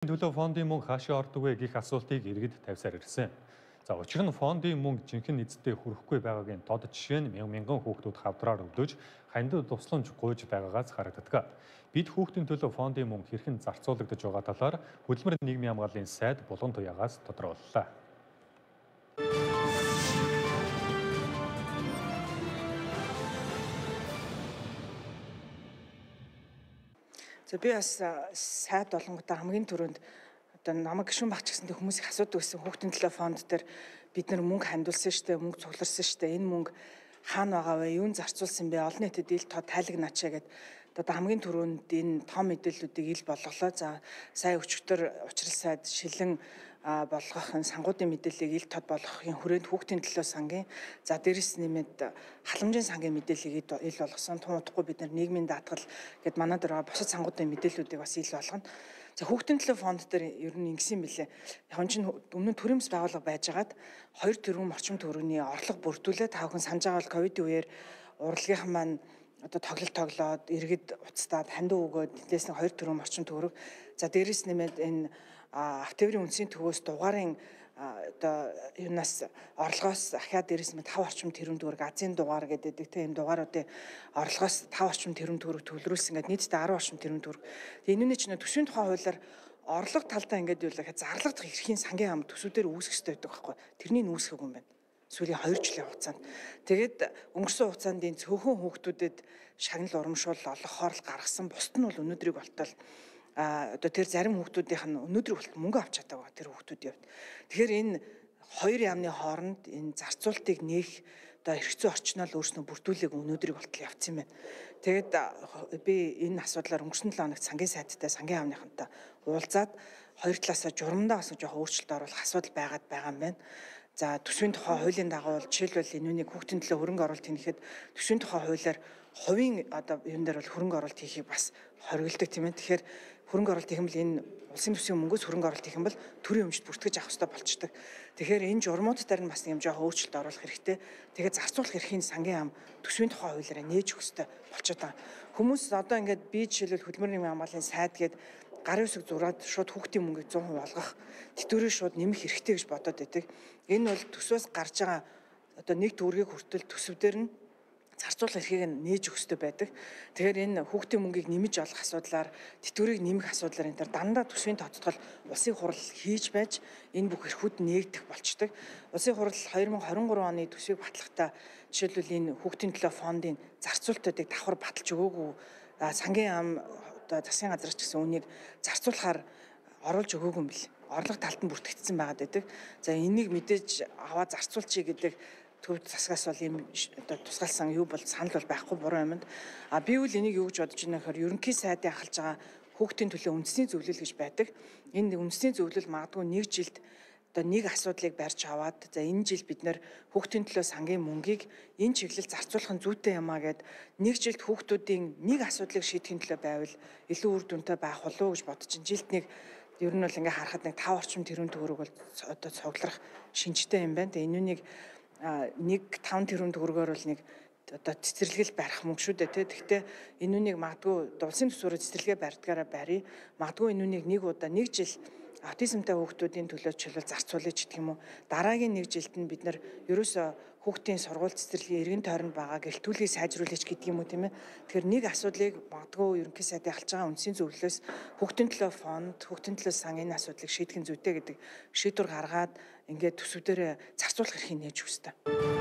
Төлөө фондын мөнгө хаашаа ордог вэ гэх асуултыг иргэд тавьсаар ирсэн. За учир нь фондын мөнгө жинхэнэ эзэдээ хүрэхгүй байгаагийн тод жишээ нь мянган хүүхдүүд хавдраар өвдөж хандад тусламж гуйж байгаагаас харагддаг. Бид хүүхдийн төлөө фондын мөнгө хэрхэн зарцуулагдаж байгаа талаар хөдөлмөр нийгмийн хамгааллын сайд Булган Туяагаас тодорхойллоо. За би бас сайд болонгуудаа хамгийн түрүүнд одоо намайг гишүүн багч гэсэндээ хүмүүс их асуудаг байсан. Хүүхдийн төлөө фонд дээр бид нар мөнгө хандуулсан штэ, мөнгө цугларсан штэ. Энэ мөнгө хаана байгаа вэ? Юунд зарцуулсан бэ? Олон нийтэд ил тод тайлагнаачаа гэд одоо хамгийн түрүүнд энэ том мэдээллүүдийг ил болголоо. За сая өчигдөр учрал сайд шилэн болгохын сангуудын мэдээллийг ил тод болгохын хүрээнд хүүхдийн төлөө сангийн за дээрэс нэмээд халамжийн сангийн мэдээллийг ил болгосон. Тун удахгүй бид нар нийгмийн даатгал гэд манад байгаа бусад сангуудын мэдээллүүдийг бас ил болгоно. За хүүхдийн төлөө фонд дээр ер нь ингэсэн мэлээ. Яг чинь өмнө нь төрөмс байгууллага байжгаад 2 тэрбум орчим төгрөгийн орлого бүрдүүлээ. Та бүхэн санаж байгаа бол ковидын үеэр урлагийнхан маань одоо тоглоод иргэд уцтаад хандив өгөөд тэндээс нь 2 тэрбум орчим төгрөг. За дээрэс нэмээд энэ автоврын үндсийн төвөөс дугаарын одоо юунаас орлогоос ахаад дээрэс нь 5 орчим тэрбум төгрөг азийн дугаар гэдэг тийм дугааруудын орлогоос 5 орчим тэрбум төгрөг төвлөрүүлсэн. Ингээд нийтдээ 10 орчим тэрбум төгрөг. Энэ нь ч төсвийн тухай хуулиар орлого талдаа ингээд юу л зарлагдах эрхийн сангийн ам төсвүүдээр үүсгэх хэрэгтэй байдаг байхгүй. Тэрнийг үүсгэхгүй юм байна. Сүүлийн 2 жилийн хугацаанд. Тэгээд өнгөрсөн хугацаанд энэ цөөхөн хүүхдүүдэд шагнал урамшуул олгохоор л гаргасан. Бусд нь бол өнөөдрийг болтол одоо тэр зарим хүүхдүүдийнх нь өнөөдрийг болтол мөнгө авч чадаагүй тэр хүүхдүүд явд. Тэгэхээр энэ хоёр яамны хооронд энэ зарцуултыг нээх одоо хэрэгцээ орчноо л өөрснөө бүрдүүлээг өнөөдрийг болтол явцсан байна. Тэгээд би энэ асуудлаар өнгөрсөн 7 хоногт сангийн сайдтай сангийн аавныхантай уулзаад хоёр талаасаа журамдаа бас жоохон өөрчлөлт оруулах асуудал байгаа юм байна. За төсвийн тухай хуулийн дагуу жишээлбэл энэнийг хүүхдийн төлөө хөрөнгө оруулалт хийхэд төсвийн тухай хуулиар хувийн одоо юм дээр бол хөрөнгө оруулалт хийхийг бас хориглодог тийм ээ. Тэгэхээр хөрөнгө оруулалт хийх юм бол энэ улсын төсвийн мөнгөөс хөрөнгө оруулалт хийх юм бол төрийн өмчт бүртгэж авах хэрэгтэй болчдөг. Тэгэхээр энэ журмууд дээр нь бас юм жоохон өөрчлөлт оруулах хэрэгтэй. Тэгэхээр зарцуулах эрхийн сангийн ам төсвийн тухай хуулиараа нээж өгөх хэрэгтэй болчиход байгаа. Хүмүүс одоо ингээд би жишээлбэл хөдөлмөр нийгмийн хамгааллын сайд гээд гарын үсэг зураад шууд хүүхдийн мөнгийг 100% олгох тэтгэврээ шууд нэмэх хэрэгтэй гэж бодоод байдаг. Энэ бол төсвөөс гарч байгаа одоо нэг төгрөгийг хүртэл төсвдөр нь зарцуулах эрхийг нь нээж өгөх хэрэгтэй байдаг. Тэгэхээр энэ хүүхдийн мөнгийг нэмж олох асуудлаар тэтгэврийг нэмэх асуудлаар энэ төр дандаа төсвийн тодтгол улсын хурал хийж байж энэ бүх эрхүүд нээгдэх болчдөг. Улсын хурал 2023 оны төсвийг батлахдаа жишээлбэл энэ хүүхдийн төлөө фондын зарцуултуудыг давхар баталж өгөөгүй сангийн ам одоо засгийн газраас ч гэсэн үнийг зарцуулахаар оруулж өгөөгүй юм бэл. Орлого талд нь бүртгэгдсэн байгаад байдаг. За энийг мэдээж аваад зарцуулчих гэдэг төв засгаас бол ийм одоо тусгаалсан юу бол санал бол байхгүй буруу юмд. Би үл энийг юу гэж бодож байна гэхээр ерөнхий сайдын ахалж байгаа хүүхдийн төлөө үндэсний зөвлөл гэж байдаг. Энэ үндэсний зөвлөл магадгүй нэг жилд одоо нэг асуудлыг барьж аваад за энэ жил бид нэр хүүхдийн төлөө сангийн мөнгийг энэ чиглэл зарцуулах нь зүйтэй юмаа гэд нэг жилд хүүхдүүдийн нэг асуудлыг шийдэхин төлөө байвал илүү үр дүнтэй байх болов уу гэж бодож чинь жилд нэг ер нь бол ингээ харахад нэг 5 орчим тэрбум төгрөг бол одоо цуглах шинжтэй юм байна. Тэгээ энэнийг нэг 5 тэрбум төгрөгөөр бол нэг одоо цэцэрлэгэл барих мөнгө шүү дээ тий. Гэхдээ энүүнийг магадгүй улсын төсвөөр цэцэрлэгээ барьдгаараа барья. Магадгүй энүүнийг нэг удаа нэг жил аутизмтай хүүхдүүдийн төлөө чөлөө зарцуулъя ч гэх юм уу. Дараагийн нэг жилд нь бид нар ерөөсөө хүүхдийн сургууль цэцэрлэгийн эргэн тойронд байгаа гэлтүүлгийг сайжруулж гэдэг юм уу тийм ээ. Тэгэхээр нэг асуудлыг магадгүй ерөнхий сайдын алж байгаа үндсийн зөвлөлөөс хүүхдийн төлөө фонд, хүүхдийн төлөө сан энэ асуудлыг шийдэх нь зүйтэй гэдэг шийдвэр гаргаад ингээд төсвүүдээр зарцуулах эрхийг нээж өгөх хэрэгтэй.